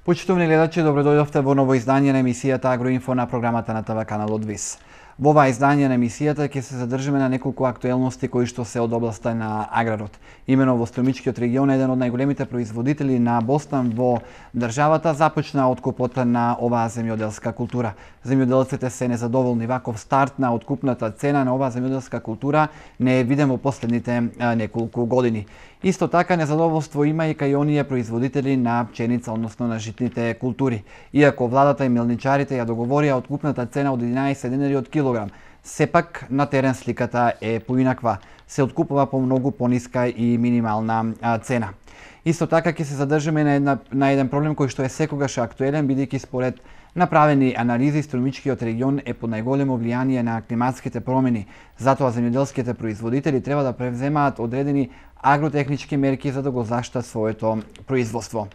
Почитувани гледачи, добродојдовте во ново издание на емисијата Агроинфо на програмата на ТВ каналот ВИС. Во ова издание на емисијата ќе се задржиме на неколку актуелности кои што се од областа на аграрот. Имено во Струмичкиот регион, еден од најголемите производители на бостан во државата, започна откупот на оваа земјоделска култура. Земјоделците се незадоволни. Ваков старт на откупната цена на оваа земјоделска култура не е виден во последните неколку години. Исто така незадоволство има и кај оние производители на пченица, односно на житните култури. Иако владата и мелничарите ја договорија откупната цена од 11 денари од килограм, сепак на терен сликата е поинаква. Се откупува по многу пониска и минимална цена. Исто така ќе се задржиме на еден проблем кој што е секогаш актуелен, бидејќи според направени анализи Струмичкиот регион е под најголемо влијание на климатските промени. Затоа земјоделските производители треба да превземаат одредени агротехнички мерки за да го заштитат своето производство.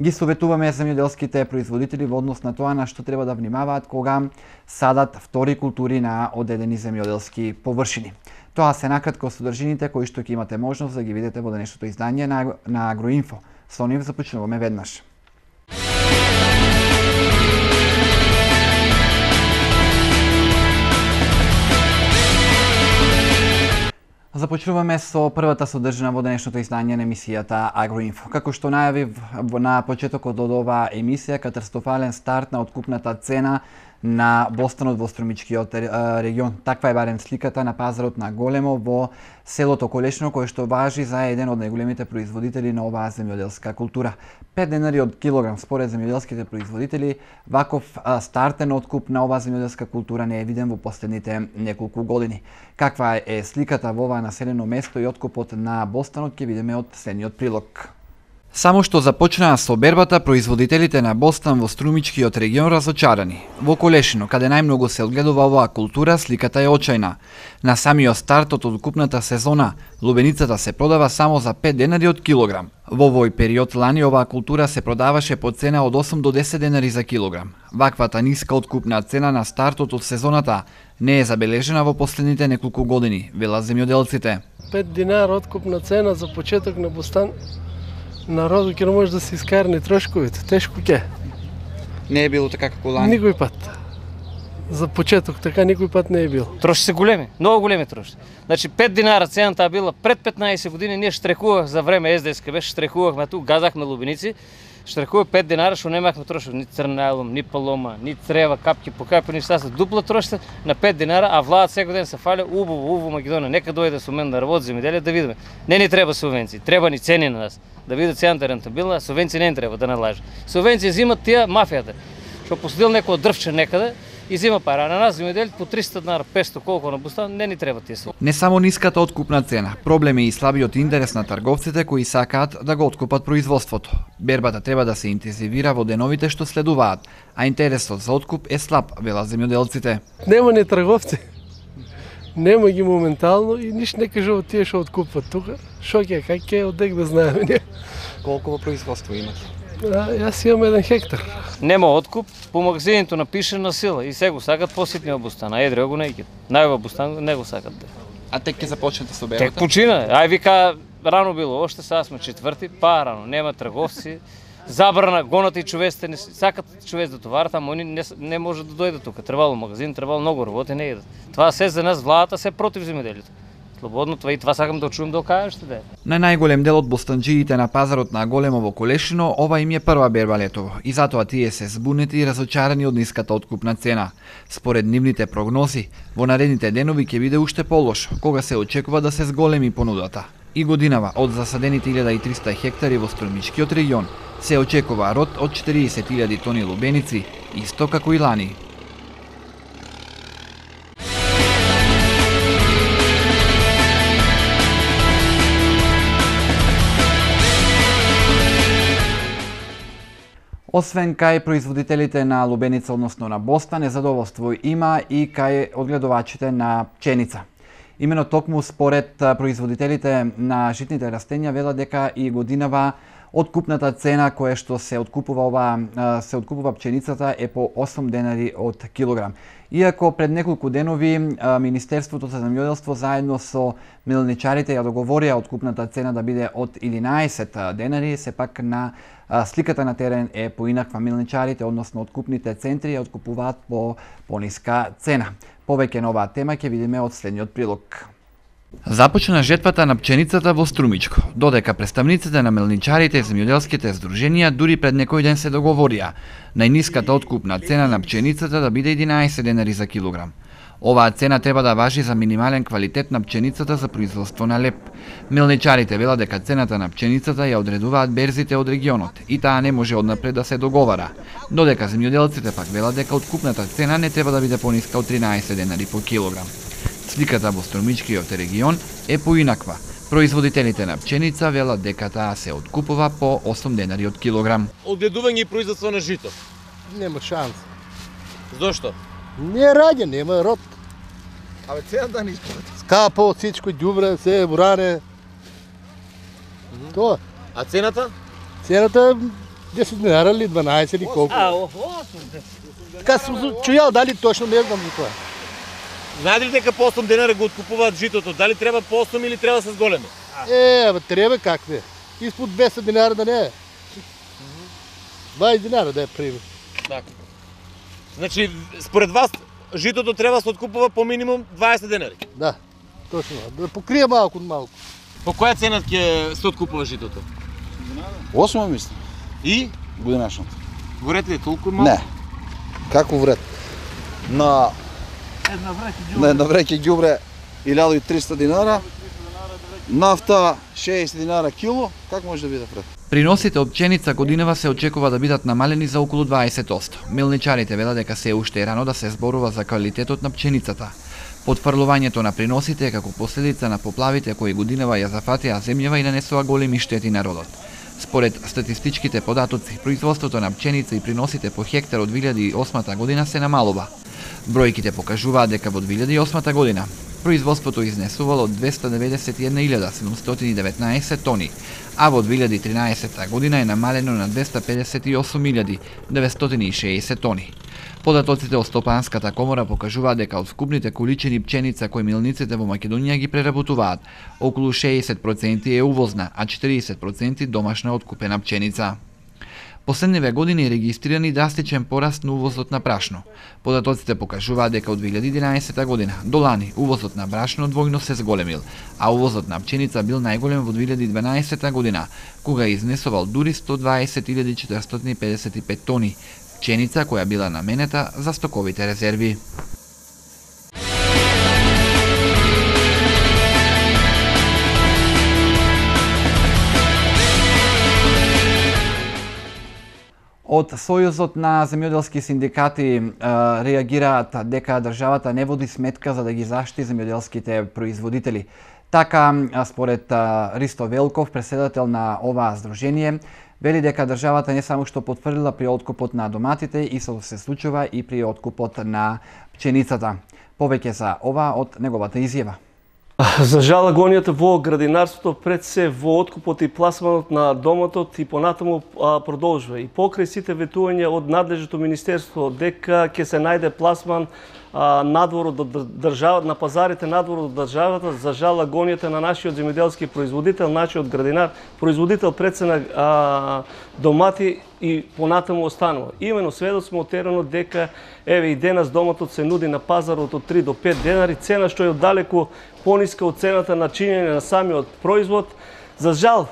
Ги советуваме земјоделските производители во однос на тоа на што треба да внимаваат кога садат втори култури на одредени земјоделски површини. Тоа се накратко содржините кои што ќе имате можност да ги видите во денешното издание на Агроинфо. Со нив започнуваме веднаш. Започнуваме со првата содржина во денешното издание на емисијата Агроинфо. Како што најавив на почетокот од оваа емисија, катастрофален старт на откупната цена на бостанот во Струмичкиот регион. Таква е барем сликата на пазарот на Големо во селото Колешино, кој што важи за еден од најголемите производители на оваа земјоделска култура. 5 денари од килограм според земјоделските производители. Ваков стартен откуп на оваа земјоделска култура не е виден во последните неколку години. Каква е сликата во оваа населено место и откупот на бостанот ќе видиме од следниот прилог. Само што започнаа со бербата, производителите на бостан во Струмичкиот регион разочарани. Во Колешино, каде најмногу се одгледува оваа култура, сликата е очајна. На самиот старт од откупната сезона, лубеницата се продава само за 5 денари од килограм. Во овој период лани оваа култура се продаваше по цена од 8 до 10 денари за килограм. Ваквата ниска откупна цена на стартот од сезоната не е забележена во последните неколку години, велат земјоделците. 5 динара откупна цена за почеток на бостан. Народот ќе не може да се искарни трошковите, тешко ќе. Не е било така како лани? Никој пат. За почеток така никој пат не е било. Троши се големи, многу големи троши. Значи 5 динара цената била пред 15 години, ние штрекувах за време СДСК беше, штрекувахме ту, газахме лубеници, штрекувах 5 динара, што немахме троши, ни црнайлом, ни палома, ни трева, капки по капи, ништа се дупла трошите на 5 динара, а владат секој ден се фали убаво Македонија, нека дојде со мен да работи земјоделие да видиме. Не ни треба субвенции, треба ни цени на нас. Да видат цената рентабилна, субвенции не им треба да налажат. Субвенции взимат тие мафијата, што посадил некој дрвче некаде и взима пара. На нас земјоделите по 300 динара, 500 колку на бустан, не ни треба тие субвенции. Не само ниската откупна цена, проблем е и слабиот интерес на трговците кои сакаат да го откупат производството. Бербата треба да се интензивира во деновите што следуваат, а интересот за откуп е слаб, велат земјоделците. Нема ни трговци. Нема ги моментално и ништо не кажува тие што откупват тука. Шо ќе, как ќе, одек да знаеме ние. Колку во производство имате? Јас имам 1 хектар. Нема откуп, по магазинито напише на сила и се го сакат поситниот бустан, а едриот го не ќе. Најва бустан не го сакат. А тек ќе започнете со бербата? Тек почина, ај вика рано било, оште сега сме четврти, па рано, нема трговци. Забрана, гонат и човеците, не сакат човец да товарат, ама они не може да дојдат тука. Требало магазин, требало многу работи, не идат. Това се за нас владата се против земјоделието. Слободно това и това сакам да чуем да кажете да. На најголем дел од бостанџиите на пазарот на Големо во Колешино, ова им е прва берба летово и затоа тие се збунети и разочарани од ниската откупна цена. Според нивните прогнози, во наредните денови ќе биде уште полошо, кога се очекува да се зголеми понудата. И годинава од засадените 1300 хектари во Струмичкиот регион се очекува род од 40.000 тони лубеници, исто како и лани. Освен кај производителите на лубеница, односно на бостан, незадоволство има и кај одгледувачите на пченица. Имено токму според производителите на житните растенја велат дека и годинава Откупната цена која што се откупува пченицата е по 8 денари од килограм. Иако пред неколку денови Министерството за земјоделство заедно со мелничарите ја договорија откупната цена да биде од 11 денари, сепак на сликата на терен е поинаква. Мелничарите, односно откупните центри, ја откупуваат по пониска цена. Повеќе на оваа тема ќе видиме од следниот прилог. Започна жетвата на пченицата во Струмичко, додека представниците на мелничарите и земјоделските здруженија дури пред некој ден се договорија најниската откупна цена на пченицата да биде 11 денари за килограм. Оваа цена треба да важи за минимален квалитет на пченицата за производство на леп. Мелничарите велат дека цената на пченицата ја одредуваат берзите од регионот и таа не може однапред да се договара, додека земјоделците пак велат дека откупната цена не треба да биде пониска од 13 денари по килограм. Сликата во Струмичкиот регион е поинаква. Производителите на пченица велат дека таа се откупува по 8 денари од килограм. Одгледување и производство на жито. Нема шанс. Зошто? Не раѓа, нема род. Абе цената не исплати. Скапо, всичко ѓубре, се буране. Тоа. А цената? Цената 10 динара или 12 или колку. Така сум чујал, дали точно не знам за тоа. Знаете ли дека по 8 денари го откупуваат житото? Дали треба по 8 или треба се зголеми? Треба какве. Испод 200 динара да не е. 20 динара да е пример. Така. Значи, според вас, житото треба да се откупува по минимум 20 денари? Да, точно. Да покрие малку. По која цена ќе се откупува житото? 8 мислам. И? Годинашното. Горете ли толку малку? Не. Како вред? На една вреќа ѓубре 1300 динара, нафта 60 динара кило, как може да биде вред? Приносите од пченица годинава се очекува да бидат намалени за околу 20%. Мелничарите велат дека се уште е рано да се зборува за квалитетот на пченицата. Потфрлувањето на приносите е како последица на поплавите кои годинава ја зафатија земјава и нанесува големи штети народот. Според статистичките податоци, производството на пченица и приносите по хектар од 2008 година се намалува. Бројките покажуваат дека во 2008 година производството изнесувало 291.719 тони, а во 2013 година е намалено на 258.960 тони. Податоците од Стопанската комора покажуваат дека од вкупните количини пченица кои милниците во Македонија ги преработуваат, околу 60% е увозна, а 40% домашна откупена пченица. Последниве години е регистриран драстичен пораст на увозот на брашно. Податоците покажуваат дека од 2011 година до лани увозот на брашно двојно се зголемил, а увозот на пченица бил најголем во 2012 година, кога изнесувал дури 120.455 тони, пченица која била наменета за стоковите резерви. Од Сојузот на земјоделски синдикати реагираат дека државата не води сметка за да ги заштити земјоделските производители. Така, според Ристо Велков, председател на оваа здружение, вели дека државата не само што потврдила при откупот на доматите, истото се случува и при откупот на пченицата. Повеќе за ова од неговата изјава. За жал, агонијата во градинарството пред се во откупот и пласманот на домотот и понатаму продолжува. И покрај сите ветувања од надлежното министерство дека ќе се најде пласман надвор од државата, на пазарите надвор од државата, за жал агонијата на нашиот земјоделски производител, нашиот градинар, производител пред се на домати и понатаму останува. Имено сведок сме од теренот дека еве и денес домотот се нуди на пазарот од 3 до 5 денари, цена што е оддалеку пониска од цената на чинење на самиот производ. За жал,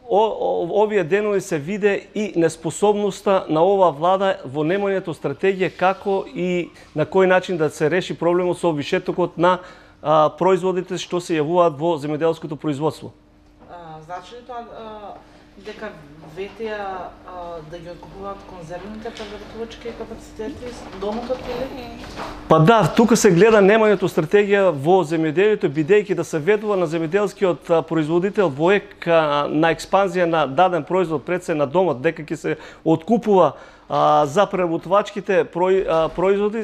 овие денови се виде и неспособноста на оваа влада во немањето стратегија како и на кој начин да се реши проблемот со вишетокот на производите што се јавуваат во земјоделското производство. Значи тоа дека ветија да ги откупуваат конзервните преработувачки капацитети домотот или? Па да, тука се гледа немањето стратегија во земјоделието, бидејќи да се ведува на земјоделскиот производител во на експанзија на даден производ пред се на домот, дека ќе се откупува за преработувачките производи,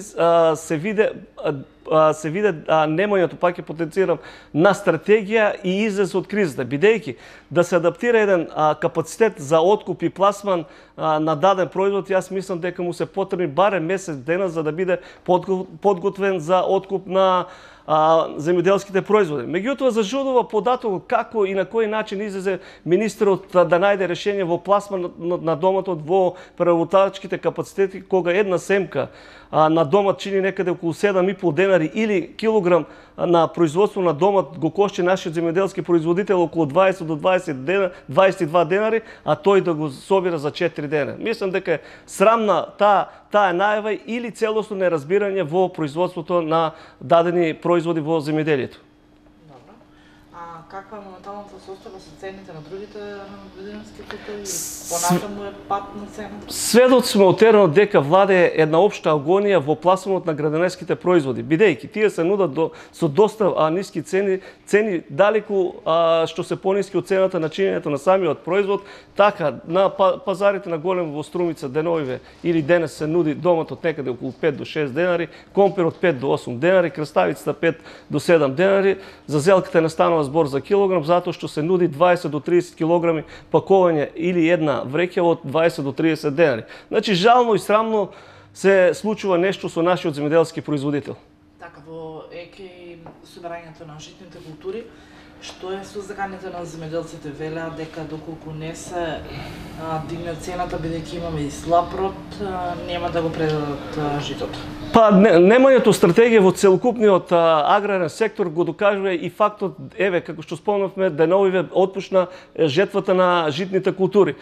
се виде немањето, пак ќе потенцирам, на стратегија и излез од кризата, бидејќи да се адаптира еден капацитет за откуп и пласман на даден производ, јас мислам дека му се потребни барем месец дена за да биде подготвен за откуп на земјоделските производи. Меѓутоа зажудува податокот како и на кој начин излезе министерот да најде решение во пласман на домотот во преработувачките капацитети, кога една семка на домот чини некаде околу 7,5 денари или килограм на производство на домот го кошти нашиот земјоделски производител околу 20 до 22 денари, а тој да го собира за 4 дена. Мислам дека е срамна таа најава или целосно неразбирање во производството на дадени производи во земјоделието. Добро. А каква е моменталната состојба со цените на другите земјоделски култури? Понатаму е пат на цената? Сведоци сме од теренот дека владе една општа агонија во пласманот на граденеските производи, бидејќи тие се нудат со доста ниски цени далеку што се пониски од цената на чинењето на самиот производ, така на пазарите на голем во Струмица деновиве или денес се нуди домотот некаде околу 5 до 6 денари, компирот 5 до 8 денари, краставицата 5 до 7 денари, за зелката не станува збор за килограм, затоа што се нуди 20 до 30 килограми пакување или една вреќа од 20 до 30 денари. Значи, жално и срамно се случува нешто со нашиот земјоделски производител. Така, во ЕК собирањето на житните култури, што е со заканите на земјоделците? Велеа дека доколку не се дигне цената, бидејќи имаме и слаб род, нема да го предадат житото. Па немањето стратегија во целокупниот аграрен сектор го докажува и фактот, еве, како што спомнавме, деновиве отпушна жетвата на житните култури.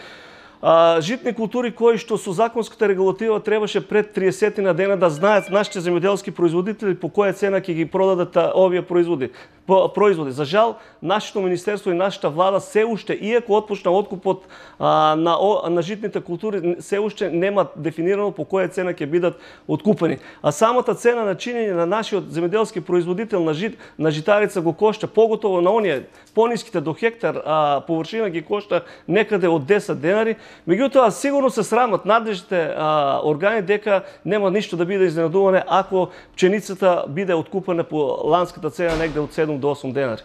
Житни култури кои што со законската регулатива требаше пред 30 на дена да знаат нашите земјоделски производители по која цена ќе ги продадат овие производи. За жал, нашето министерство и нашата влада се уште, иако отпушна откупот на житните култури, се уште нема дефинирано по која цена ќе бидат откупени. А самата цена на чинење на нашиот земјоделски производител на житарица го кошта, поготово на оние пониските до хектар површина ги кошта некаде од 10 денари. Меѓутоа, сигурно се срамат надлежните органи дека нема ништо да биде изненадуване ако пченицата биде откупена по ланската цена негде од 7 до 8 денари.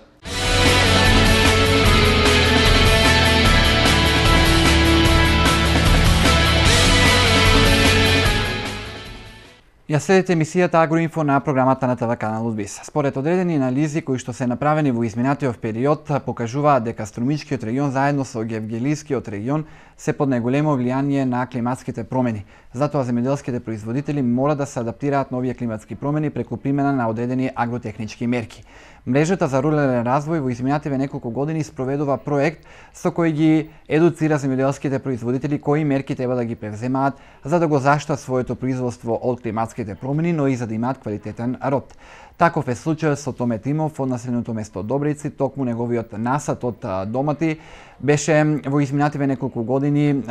Ја следите емисијата Агроинфо на програмата на ТВ каналот ВИС. Според одредени анализи кои што се направени во изминатиот период покажуваат дека Струмичкиот регион заедно со Гевгелискиот регион се под најголемо влијание на климатските промени. Затоа земјоделските производители мора да се адаптираат на овие климатски промени преку примена на одредени агротехнички мерки. Мрежата за рурален развој во изминативе неколку години спроведува проект со кој ги едуцира земјоделските производители кои мерки треба да ги превземаат за да го заштитат своето производство од климатските промени, но и за да имаат квалитетен род. Таков е случајот со Томе Тимов од населеното место Добријци, токму неговиот насад од домати беше во изминативе неколку години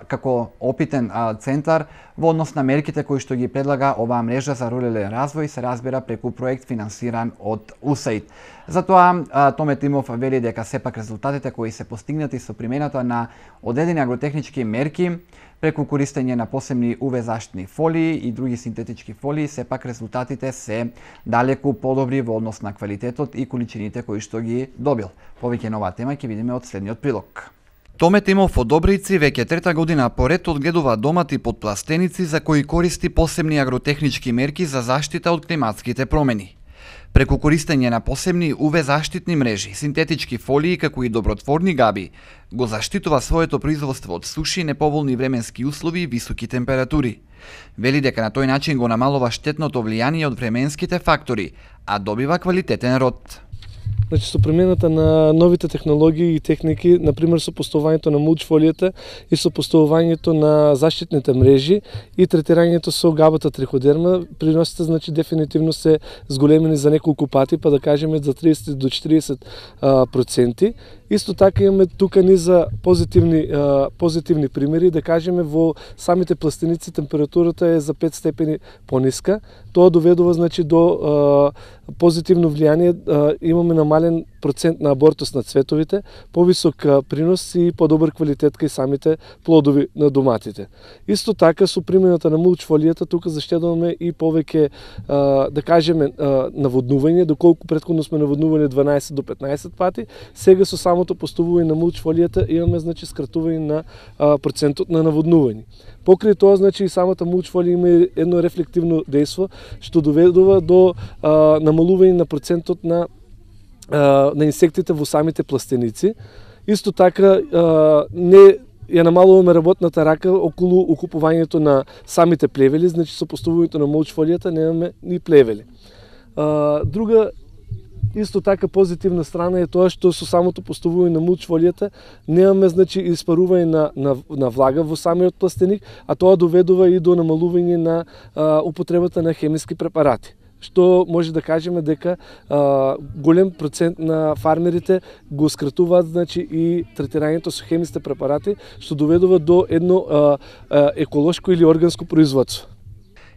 како опитен центар во однос на мерките кои што ги предлага оваа мрежа за рурален развој, се разбира преку проект финансиран од USAID. Затоа Томе Тимов вели дека сепак резултатите кои се постигнати со примената на одредени агротехнички мерки преку користење на посебни UV заштитни фолии и други синтетички фолии, сепак резултатите се далеку подобри во однос на квалитетот и количините кои што ги добил. Повеќе на оваа тема ќе видиме од следниот прилог. Томе Тимов од Добријци веќе трета година поред одгледува домати под пластеници за кои користи посебни агротехнички мерки за заштита од климатските промени. Преку користење на посебни UV заштитни мрежи, синтетички фолии како и добротворни габи, го заштитува своето производство од суши, неповолни временски услови и високи температури. Вели дека на тој начин го намалува штетното влијание од временските фактори, а добива квалитетен род. Значи, со примената на новите технологии и техники, например со поставувањето на мулчфолијата и со поставувањето на заштитните мрежи и третирањето со габата триходерма, приносите, значи, дефинитивно се зголемени за неколку пати, па да кажеме за 30 до 40%. Исто така имаме тука низа позитивни примери, да кажеме во самите пластеници температурата е за 5 степени пониска. Тоа доведува значи до позитивно влијание, имаме намален процент на абортус на цветовите, повисок принос и подобар квалитет кај самите плодови на доматите. Исто така со примената на мулчфолијата тука заштедуваме и повеќе да кажеме наводнување, доколку претходно сме наводнувани 12 до 15 пати, сега со самото поставување на мулчфолијата имаме значи скратување на процентот на наводнување. Покрај тоа, значи, и самата мулчфолија има едно рефлективно дејство, што доведува до намалување на процентот на инсектите во самите пластеници. Исто така, не ја намалуваме работната рака околу окупувањето на самите плевели, значи со поставувањето на мулчфолијата немаме ни плевели. Друга исто така позитивна страна е тоа што со самото поставување на мулчфолијата немаме значи испарување на влага во самиот пластеник, а тоа доведува и до намалување на употребата на хемиски препарати. Што може да кажеме дека голем процент на фармерите го скратуваат значи и третирањето со хемисите препарати, што доведува до едно еколошко или органско производство.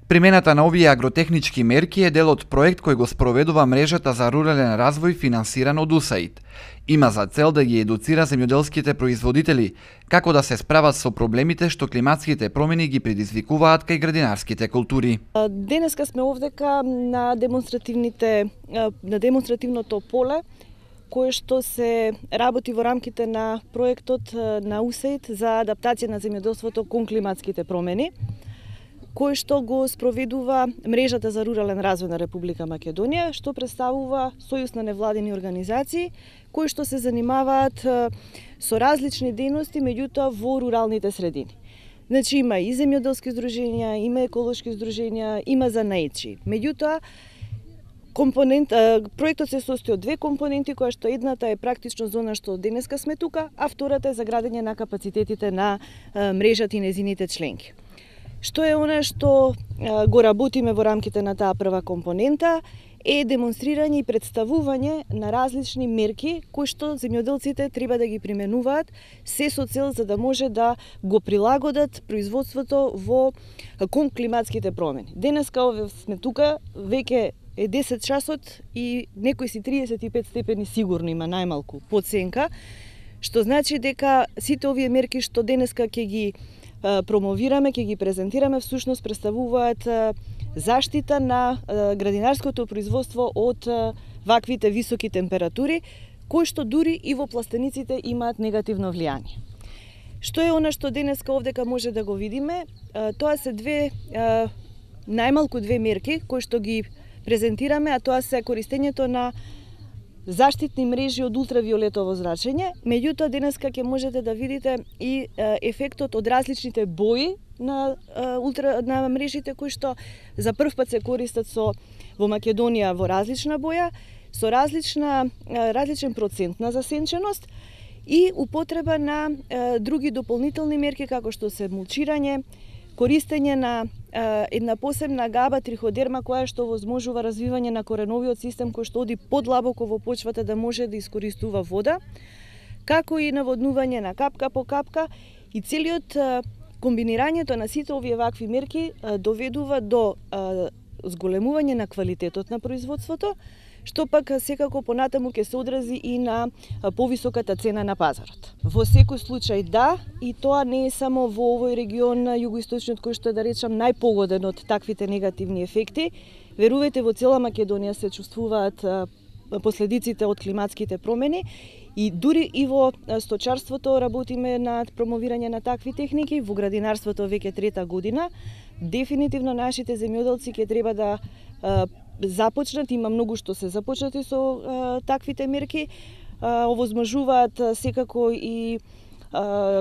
Примената на овие агротехнички мерки е дел од проект кој го спроведува мрежата за рурален развој финансиран од УСАИД. Има за цел да ги едуцира земјоделските производители како да се справат со проблемите што климатските промени ги предизвикуваат кај градинарските култури. Денеска сме овдека на демонстративното поле кое што се работи во рамките на проектот на УСАИД за адаптација на земјоделството кон климатските промени, кој што го спроведува мрежата за рурален развој на Република Македонија, што представува сојуз на невладини организации кои што се занимаваат со различни дејности, меѓутоа во руралните средини. Значи има и земјоделски здруженија, има еколошки здруженија, има занаетчи. Меѓутоа проектот се состои од две компоненти, која што едната е практично зона што денеска сме тука, а втората е за градење на капацитетите на мрежата и незините членки. Што е она што го работиме во рамките на таа прва компонента е демонстрирање и представување на различни мерки кои што земјоделците треба да ги применуваат се со цел за да може да го прилагодат производството кон климатските промени. Денеска сме тука, веќе е 10 часот и некој си 35 степени сигурно има најмалку подсенка, што значи дека сите овие мерки што денеска ќе ги промовираме, ќе ги презентираме, всушност представуваат заштита на градинарското производство од ваквите високи температури, кои што дури и во пластениците имаат негативно влијание. Што е она што денеска овдека може да го видиме? Тоа се најмалку две мерки кои што ги презентираме, а тоа се користењето на заштитни мрежи од ултравиолетово зрачење, меѓутоа денеска ќе можете да видите и ефектот од различните бои на мрежите кои што за прв пат се користат во Македонија во различна боја, со различен процент на засенченост и употреба на други дополнителни мерки како што се мулчирање, користење на една посебна габа триходерма која што возможува развивање на кореновиот систем кој што оди подлабоко во почвата да може да искористува вода, како и наводнување на капка по капка и целиот комбинирањето на сите овие вакви мерки доведува до зголемување на квалитетот на производството, што пак секако понатаму ќе се одрази и на повисоката цена на пазарот. Во секој случај да, и тоа не е само во овој регион југоисточниот кој што е, да речам, најпогоден од таквите негативни ефекти. Верувајте, во цела Македонија се чувствуваат последиците од климатските промени и дури и во сточарството работиме на промовирање на такви техники, во градинарството веќе трета година. Дефинитивно нашите земјоделци ќе треба да започнат, има многу што се започнати со таквите мерки, овозможуваат секако и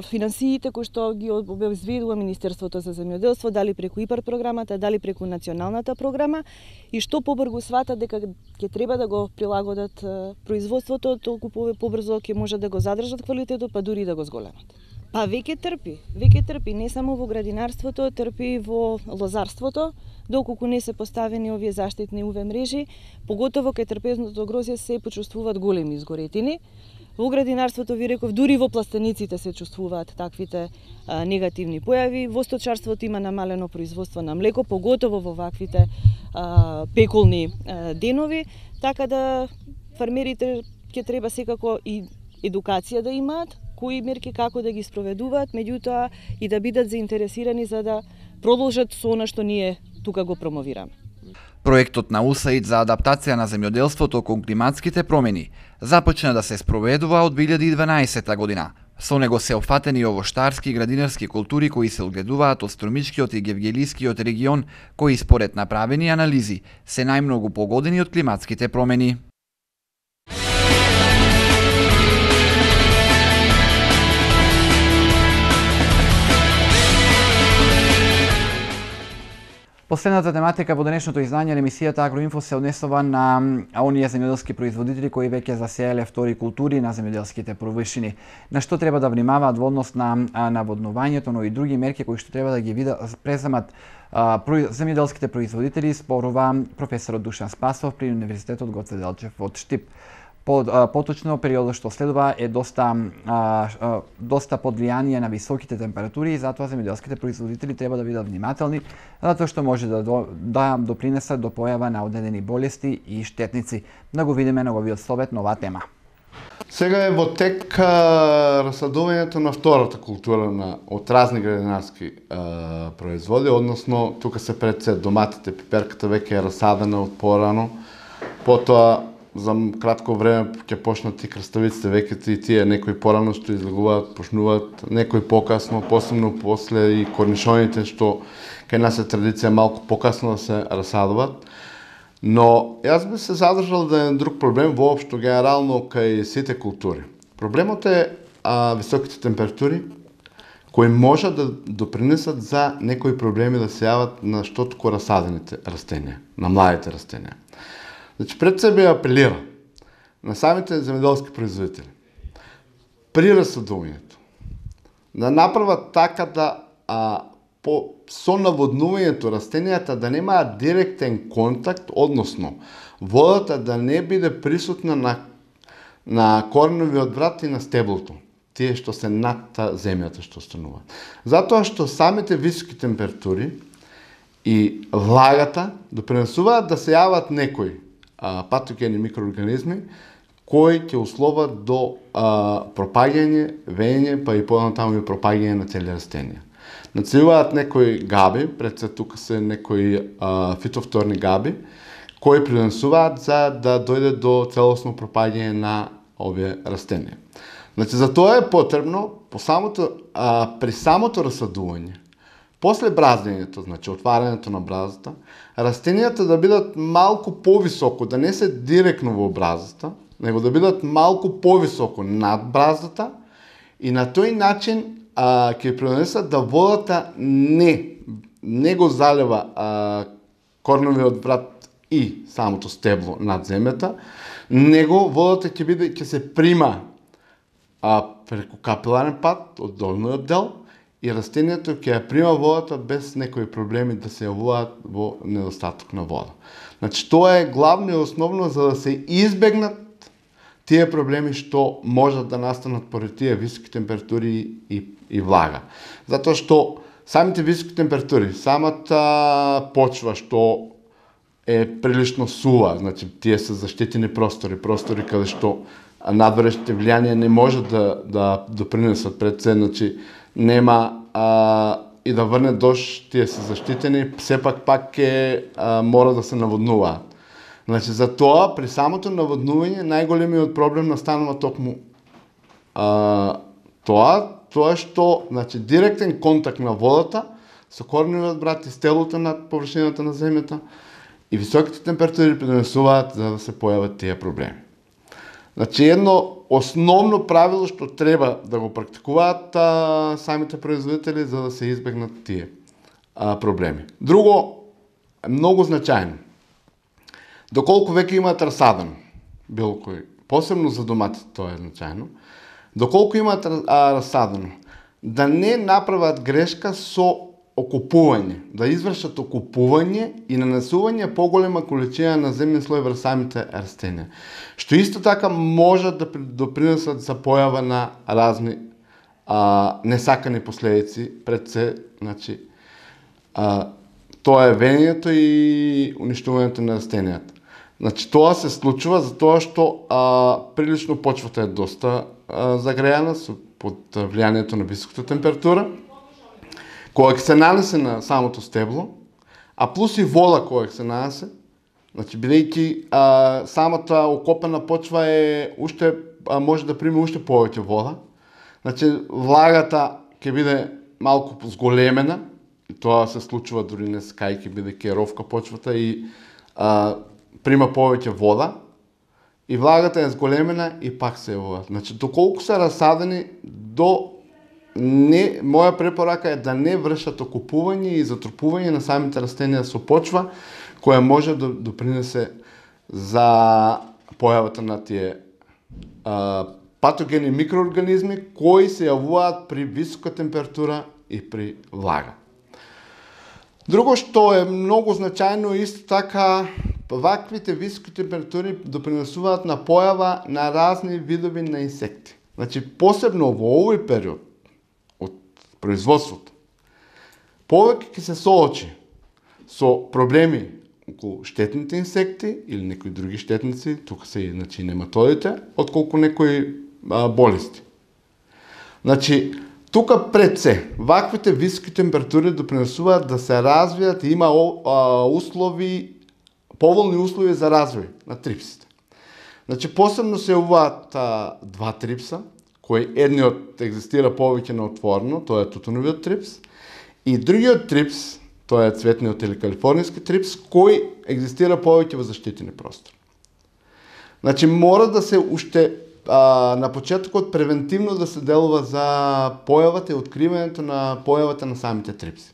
финансиите кои што ги обезбедува Министерството за земјоделство, дали преку ИПАР програмата, дали преку националната програма, и што побрзо сватат дека ќе треба да го прилагодат производството, толку побрзо ќе може да го задржат квалитетот, па дури да го зголемат. Па веќе трпи, не само во градинарството, трпи во лозарството, доколку не се поставени овие заштитни UV мрежи, поготово кај трпезното грозје се почувствуваат големи изгоретини. Во градинарството, ви реков, дури во пластениците се чувствуваат таквите негативни појави. Во сточарството има намалено производство на млеко, поготово во ваквите пеколни денови, така да фармерите ќе треба секако и едукација да имаат, кои мерки како да ги спроведуваат, меѓутоа и да бидат заинтересирани за да продолжат со она што ние тука го промовираме. Проектот на УСАИД за адаптација на земјоделството кон климатските промени започна да се спроведува од 2012 година. Со него се опфатени овоштарски и градинарски култури кои се одгледуваат од Струмичкиот и Гевгелискиот регион, кои според направени анализи се најмногу погодени од климатските промени. Последната тематика во денешното издање на емисијата Агроинфо се однесува на оние земјоделски производители кои веќе засееле втори култури на земјоделските површини. На што треба да внимаваат во однос на наводнувањето, но и други мерки кои што треба да ги преземат земјоделските производители, спорува професорот Душан Спасов при Универзитетот Гоце Делчев од Штип. Поточно, периодот што следува е доста под влијание на високите температури и затоа земјоделските производители треба да бидат внимателни, затоа што може да допринесат до појава на одредени болести и штетници. Да го видиме неговиот совет на оваа тема. Сега е во тек расадувањето на втората култура од разни градинарски производи, односно тука се пред се доматите, пиперката веќе е расадена од порано, потоа за кратко време ќе почнат и краставиците, веќе и тие некои порано што излегуваат, почнуваат, некои покасно, посебно после и корнишоните што кај нас е традиција малку покасно да се расадуваат. Но јас би се задржал да е друг проблем воопшто генерално кај сите култури. Проблемот е високите температури кои можат да допринесат за некои проблеми да се јават на штотко расадените растенија, на младите растенија. Значи, пред себе апелира на самите земјоделски производители при расадувањето да направат така да со наводнувањето растенијата да немаат директен контакт, односно водата да не биде присутна на кореновиот врат и на стеблото, тие што се над земјата што стануваат. Затоа што самите високи температури и влагата допринесуваат да се јават некои патогени микроорганизми кои ќе условат до пропаѓање, вење, па и понатаму и пропаѓање на цели растенија. Нацелуваат некои габи, пред се тука се некои фитофторни габи, кои придонесуваат за да дојде до целосно пропаѓање на овие растенија. Значи, за тоа е потребно при самото расадување, после браздењето, значи отварањето на бразата, растенијата да бидат малку повисоко, да не се директно во бразата, него да бидат малку повисоко над бразата и на тој начин ќе придонесат да водата не го залева корновиот врат и самото стебло над земјата, него водата ќе се прима преку капиларен пат од долниот дел и растението ќе ја прима водата без некои проблеми да се јавуваат во недостаток на вода. Значи, тоа е главно и основно за да се избегнат тие проблеми што можат да настанат поради тие високи температури и влага. Затоа што самите високи температури, самата почва што е прилично сува, значи тие се заштитени простори каде што надворешните влијанија не можат да допринесат пред се, значи нема и да врне дожд, тие се заштитени, сепак пак мора да се наводнуваат. Значи, за тоа, при самото наводнување, најголемиот проблем настанува токму тоа што, значи, директен контакт на водата со корневиот врат и стеблото над површината на земјата и високите температури придонесуваат за да се појават тие проблеми. Значи, едно основно правило што треба да го практикуваат самите производители за да се избегнат тие проблеми. Друго, многу значајно, доколку веќе имаат расадено, било кој, посебно за доматите тоа е значајно, доколку имаат расадено, да не направат грешка со окупување, да извршат окупување и нанесување поголема количина на земен слој врз самите растенија, што исто така може да допринесат за појава на разни несакани последици, пред се, значи, тоа е венењето и уништувањето на растенијата. Значи, тоа се случува затоа што прилично почвата е доста загрејана под влијанието на високата температура, која ќе се нанесе на самото стебло, а плюс и вода која ќе се нанесе, значи, бидејќи самата окопена почва може да приме уште повеќе вода, значи, влагата ќе биде малку зголемена, и тоа се случува дури не скајки, бидејќи е ровка почвата и прима повеќе вода, и влагата е зголемена и пак се вода. Значи, доколку се расадени моја препорака е да не вршат окупување и затрупување на самите растенија со почва, која може да допринесе за појавата на тие патогени микроорганизми кои се јавуваат при висока температура и при влага. Друго што е многу значајно исто така, ваквите високи температури допринесуваат на појава на разни видови на инсекти. Значи, посебно во овој период од производството, повеќе ќе се соочи со проблеми околу штетните инсекти или некои други штетници, тука се значи нематодите, отколку некои болести. Значи, тука пред се, ваквите високи температури допринесуваат да се развијат и има поволни услови за развој на трипсите. Значи, посебно се јавуваат два трипса, кои едниот екзистира повеќе на отворено, тоа е тутуновиот трипс, и другиот трипс, тоа е цветниот или калифорнијски трипс, кој екзистира повеќе во заштитени простори. Значи, мора да се уште на почетокот превентивно да се делува за појавата и откривањето на појавата на самите трипси.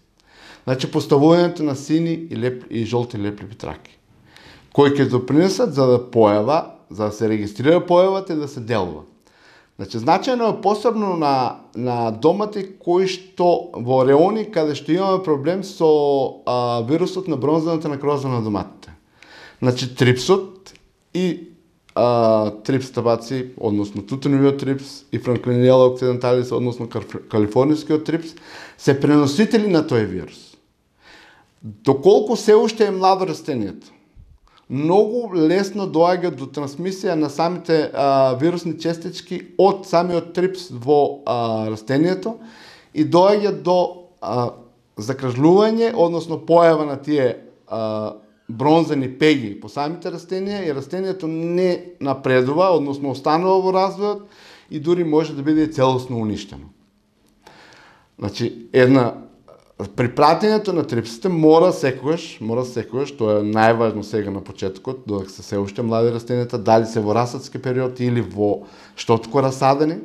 Значи, поставувањето на сини и жолти лепливи траки, кои ќе допринесат за да се регистрира појавата и да се делува. Значи, значајно е посебно на домати кои што во реони каде што имаме проблем со вирусот на бронзаната некроза на доматите. Значи, трипсот и трипс табаци, односно тутуновиот трипс и Франклинела окциденталис, односно калифорнијскиот трипс, се преносители на тој вирус. Доколку се уште е младо растението, многу лесно доаѓа до трансмисија на самите вирусни честички од самиот трипс во растението и доаѓа до закржлување, односно појава на тие бронзени пеги по самите растенија и растението не напредува, односно останува во развојот и дури може да биде целосно уништено. Значи, при пратењето на трипсите мора секогаш, тоа е најважно сега на почетокот, додека се уште млади растенијата, дали се во расадски период или во штотко расадени,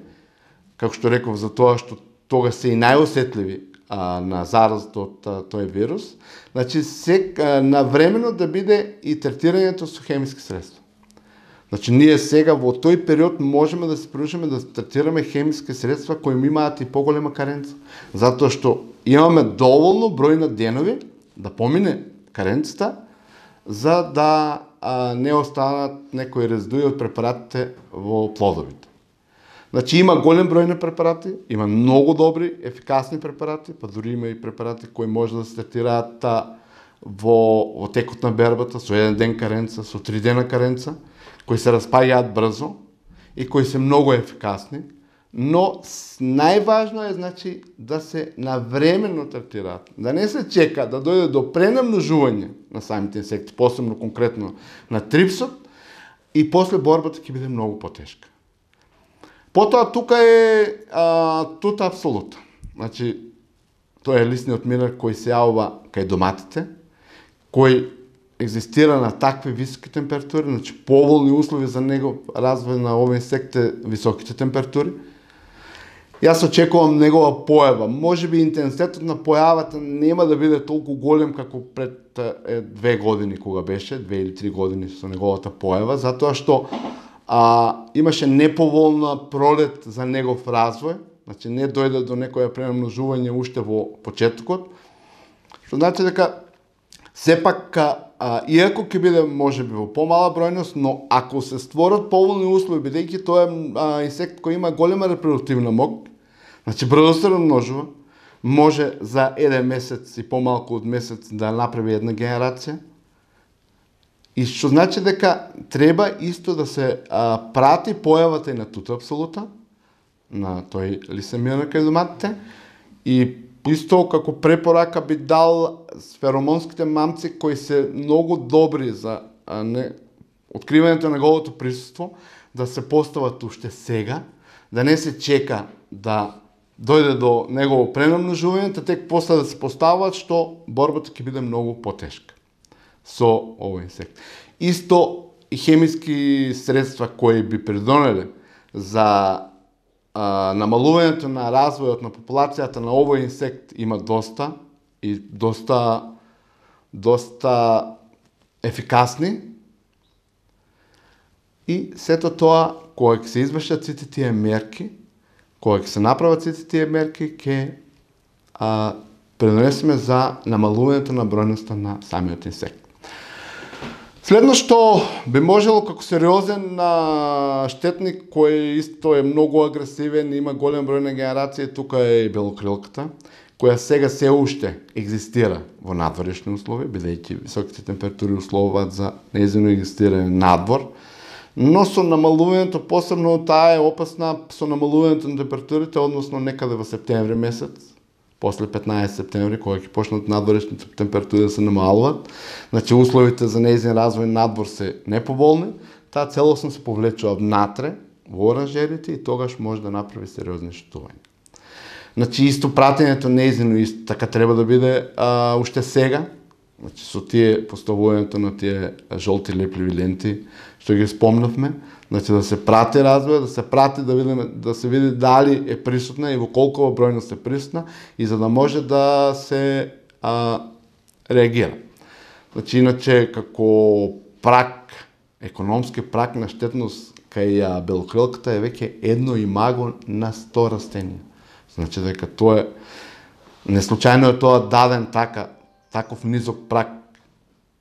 како што реков, за тоа што тога се и најосетливи на заразот од тој вирус, значи навремено да биде и третирањето со хемиски средства. Значи, ние сега во тој период можеме да се прилучиме да третираме хемиски средства кои имаат и поголема каренца, затоа што имаме доволно број на денови да помине каренцата, за да не останат некои резидуи од препаратите во плодовите. Значи, има голем број на препарати, има многу добри, ефикасни препарати, па дури има и препарати кои може да се третираат во текот на бербата, со 1 ден каренца, со 3 дена каренца, кои се распаѓаат брзо и кои се многу ефикасни, но најважно е, значи, да се навремено третираат, да не се чека да дојде до пренамножување на самите инсекти, посебно конкретно на трипсот, и после борбата ќе биде многу потешка. Потоа тука е тута абсолута. Значи, тоа е лисниот минер кој се јавува кај доматите, кој екзистира на такви високи температури, значи поволни услови за него развој на овој инсект е високите температури. Јас очекувам негова појава. Може би интензитетот на појавата нема да биде толку голем како пред 2 години кога беше, 2 или 3 години со неговата појава, затоа што имаше неповолна пролет за негов развој, значи не дојде до некоја премножување уште во почетокот, Што значи дека сепак иако ќе биде можеби во помала бројност, но ако се створат поволни услови, бидејќи тоа е инсект кој има голема репродуктивна мок, значи брзо се размножува, може за еден месец и помалку од месец да направи една генерација. И што значи дека треба исто да се прати појавата и на тута апсолута, на тој лисемир кај доматите, и исто како препорака би дал феромонските мамци кои се многу добри за откривањето на неговото присуство, да се постават уште сега, да не се чека да дојде до негово пренамножување, тек после да се постават, што борбата ќе биде многу потешка со овој инсект. Исто и хемиски средства кои би придонеле за намалувањето на развојот на популацијата на овој инсект има доста и доста ефикасни. И сето тоа, кога ќе се извршат сите тие мерки, кога ќе се направат сите тие мерки, ќе придонесеме за намалувањето на бројноста на самиот инсект. Следно што би можело како сериозен штетник кој исто е многу агресивен, има голем број на генерации, тука е и белокрилката, која сега се уште екзистира во надворешни услови, бидејќи високите температури условуваат за нејзино екзистирање надвор, но со намалувањето, посебно таа е опасна со намалувањето на температурите, односно некаде во септември месец, после 15 септември, кога ќе почнат надворешните температури да се намалуваат, значи условите за нејзин развој надвор се неповолни, таа целосно се повлечува внатре во оранжериите и тогаш може да направи сериозни штетувања. Значи исто пратењето нејзино исто така треба да биде уште сега, значи со тие поставувањето на тие жолти лепливи ленти што ги спомнавме, значи да се прати развој, да се прати да се види дали е присутна и во колкова бројност е присутна и за да може да се реагира. Значи иначе како прак, економски прак на штетност кај белокрилката е веќе 1 имаго на 100 растенија. Значи дека тоа е неслучајно е тоа даден таков низок прак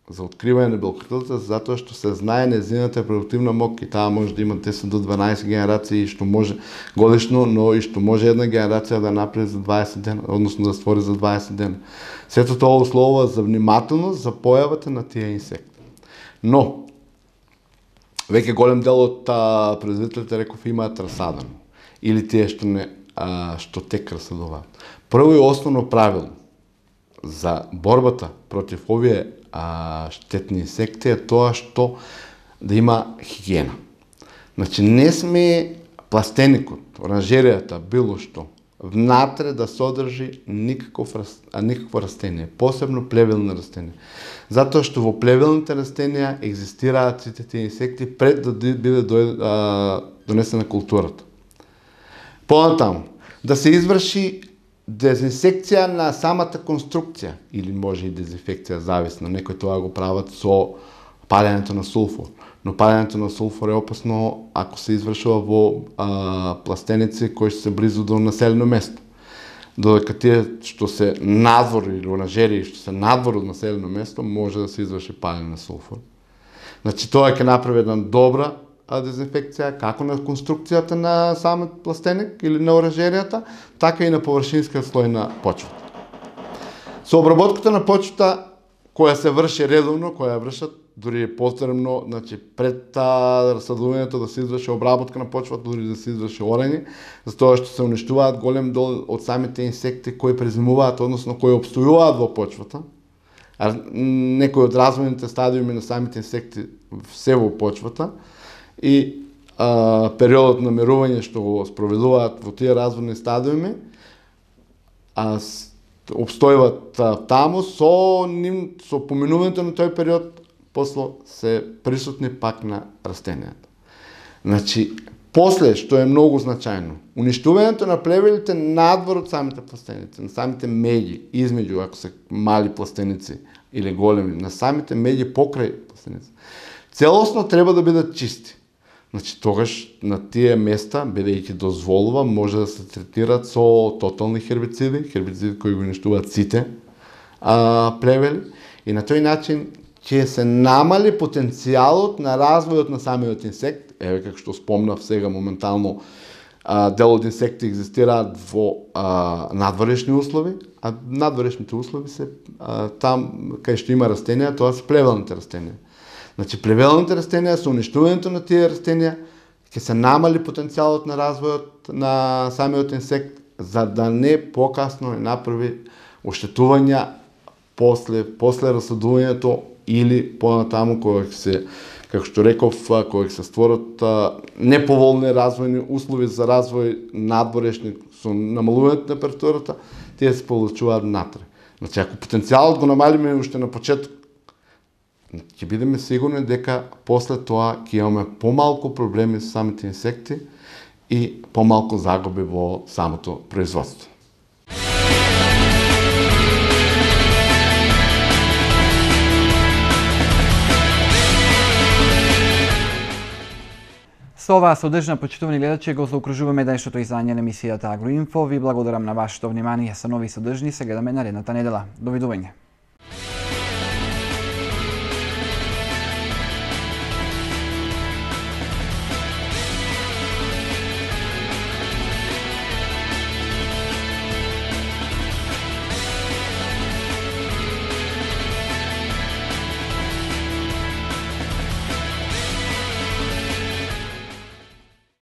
за откривање на белокрилката, затоа што се знае нејзината репродуктивна мок и таа може да има 10 до 12 генерации што може годишно, но и што може една генерација да направи за 20 дена, односно да створи за 20 дена. Сето тоа условува за внимателност за појавата на тие инсекти. Но веќе голем дел од производителите реков имаат расадено или тие што тек расадуваат. Прво и основно правило за борбата против овие штетни инсекти е тоа што да има хигиена. Значи не сме пластеникот, оранжеријата, било што, внатре да содржи никакво растение, посебно плевелни растенија. Затоа што во плевелните растенија екзистираат сите тие инсекти пред да биде донесена културата. Понатаму, да се изврши дезинсекција на самата конструкција, или може и дезинфекција, зависно, некои тоа го прават со палењето на сулфур. Но палењето на сулфур е опасно ако се извршува во пластеници кои се близу до населено место. Додека тие што се надвор или оранжерии што се надвор од населено место, може да се изврши палење на сулфур. Значи тоа ќе направи една добра дезинфекција како на конструкцијата на самиот пластеник или на оранжеријата, така и на површинскиот слој на почвата. Со обработката на почвата која се врши редовно, која вршат дури е потребно, значи пред расадувањето да се изврши обработка на почвата, дури да се изврши орање, затоа што се уништуваат голем дел од самите инсекти кои презимуваат, односно кои опстојуваат во почвата. Некои од развојните стадиуми на самите инсекти се во почвата и периодот на мирување што го спроведуваат во тие развојни стадиуми обстојуват таму со поминувањето на тој период, после се присутни пак на растенијата. Значи, после, што е многу значајно, уништувањето на плевелите надвор од самите пластеници, на самите меѓи, измеѓу, ако се мали пластеници или големи, на самите меѓи покрај пластеници, целосно треба да бидат чисти. Значи, тогаш на тие места, бидејќи дозволува, може да се третират со тотални хербициди кои го уништуваат сите плевели и на тој начин ќе се намали потенцијалот на развојот на самиот инсект. Еве како што спомнав сега моментално, дел од инсекти екзистираат во надворешни услови, а надворешните услови се там кај што има растенија, тоа се плевелните растенија. Значи плевелните растенија со уништувањето на тие растенија ќе се намали потенцијалот на развојот на самиот инсект, за да не покасно не направи оштетувања после расадувањето или понатаму кога се, како што реков, кога се створат неповолни развојни услови за развој надворешни со намалувањето на температурата, тие се получуваат натре. Значи, ако потенцијалот го намалиме уште на почеток, ќе бидеме сигурни дека после тоа ќе имаме помалку проблеми со самите инсекти и помалку загуби во самото производство. Со оваа содржина, почитувани гледачи, го заокружуваме денешното издање на емисијата Агроинфо. Ви благодарам на вашето внимание. Со нови содржини се гледаме наредната недела. Довидување.